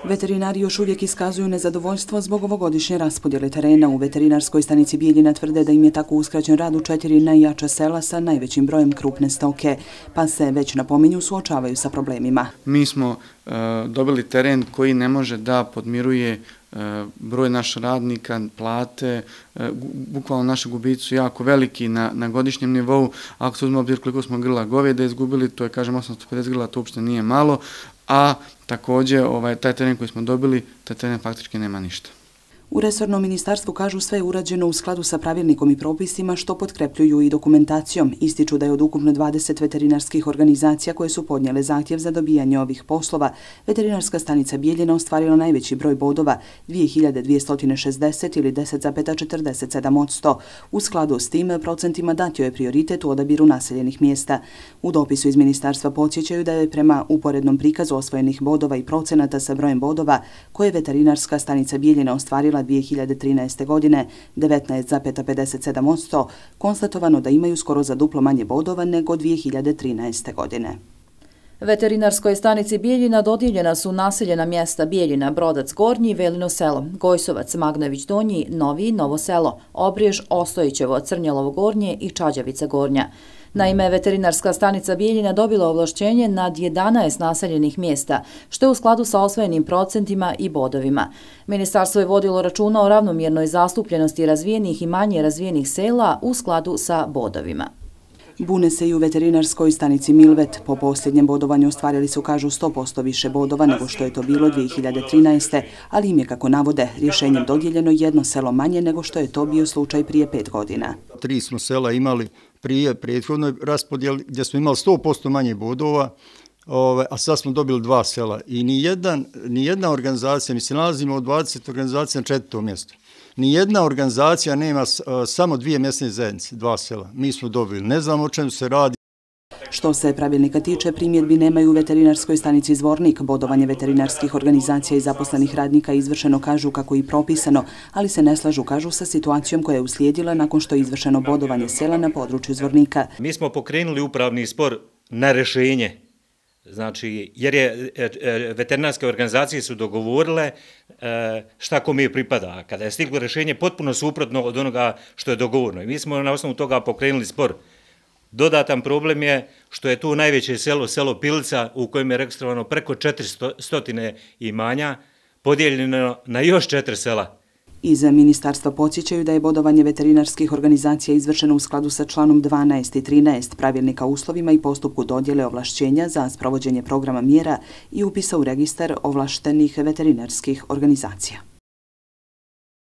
Veterinari još uvijek iskazuju nezadovoljstvo zbog ovogodišnje raspodjele terena. U veterinarskoj stanici Bijeljina tvrde da im je tako uskraćen rad u 4 najjača sela sa najvećim brojem krupne stoke, pa se već napominju suočavaju sa problemima. Mi smo dobili teren koji ne može da podmiruje broj naših radnika, plate, bukvalno naši gubici su jako veliki na godišnjem nivou. Ako se uzme obzir koliko smo grla goveda izgubili, to je, kažem, 850 grla, to uopšte nije malo, a također taj teren koji smo dobili, taj teren faktički nema ništa. U resornom ministarstvu kažu sve je urađeno u skladu sa pravilnikom i propisima, što potkrepljuju i dokumentacijom. Ističu da je od ukupno 20 veterinarskih organizacija koje su podnijele zahtjev za dobijanje ovih poslova, veterinarska stanica Bijeljina ostvarila najveći broj bodova, 2260 ili 10,47%. U skladu s tim procentima datio je prioritet u odabiru naseljenih mjesta. U dopisu iz ministarstva podsjećaju da je prema uporednom prikazu osvojenih bodova i procenata sa brojem bodova koje veterinarska stanica Bijeljina ostvarila 2013. godine 19,57%, konstatovano da imaju skoro za duplo manje bodova nego 2013. godine. Veterinarskoj stanici Bijeljina dodijeljena su naseljena mjesta Bijeljina, Brodac Gornji, Velino selo, Gojsovac, Magnović Donji, Novi, Novo selo, Obrijež, Ostojićevo, Crnjelovo Gornje i Čađavica Gornja. Naime, veterinarska stanica Bijeljina dobila ovlašćenje nad 11 naseljenih mjesta, što je u skladu sa osvojenim procentima i bodovima. Ministarstvo je vodilo računa o ravnomjernoj zastupljenosti razvijenih i manje razvijenih sela u skladu sa bodovima. Bune se i u veterinarskoj stanici Milvet. Po posljednjem bodovanju ostvarili su, kažu, 100% više bodova nego što je to bilo 2013. Ali im je, kako navode, rješenjem dodijeljeno jedno selo manje nego što je to bio slučaj prije 5 godina. 3 smo sela imali prije prethodnoj raspodjeli gdje smo imali 100% manje bodova, a sad smo dobili 2 sela. I nijedna organizacija, mi se nalazimo od 20 organizacija na 4. mjestu. Nijedna organizacija nema samo 2 mjesne zajednice, 2 sela. Mi smo dobili, ne znamo o čemu se radi. Što se pravilnika tiče, primjedbi nemaju u veterinarskoj stanici Zvornik. Bodovanje veterinarskih organizacija i zaposlenih radnika izvršeno, kažu, kako i propisano, ali se ne slažu, kažu, sa situacijom koja je uslijedila nakon što je izvršeno bodovanje sela na području Zvornika. Mi smo pokrenuli upravni spor na rješenje. Znači, jer je veterinarske organizacije su dogovorile šta kome pripada. Kada je stiglo rješenje potpuno suprotno od onoga što je dogovoreno. I mi smo na osnovu toga pokrenuli spor. Dodatan problem je što je tu najveće selo, selo Pilica, u kojem je registrovano preko 400 imanja, podijeljeno na još 4 sela. Iz ministarstva podsjećaju da je bodovanje veterinarskih organizacija izvršeno u skladu sa članom 12 i 13 pravilnika o uslovima i postupku dodjele ovlašćenja za sprovođenje programa mjera i upisa u registar ovlaštenih veterinarskih organizacija.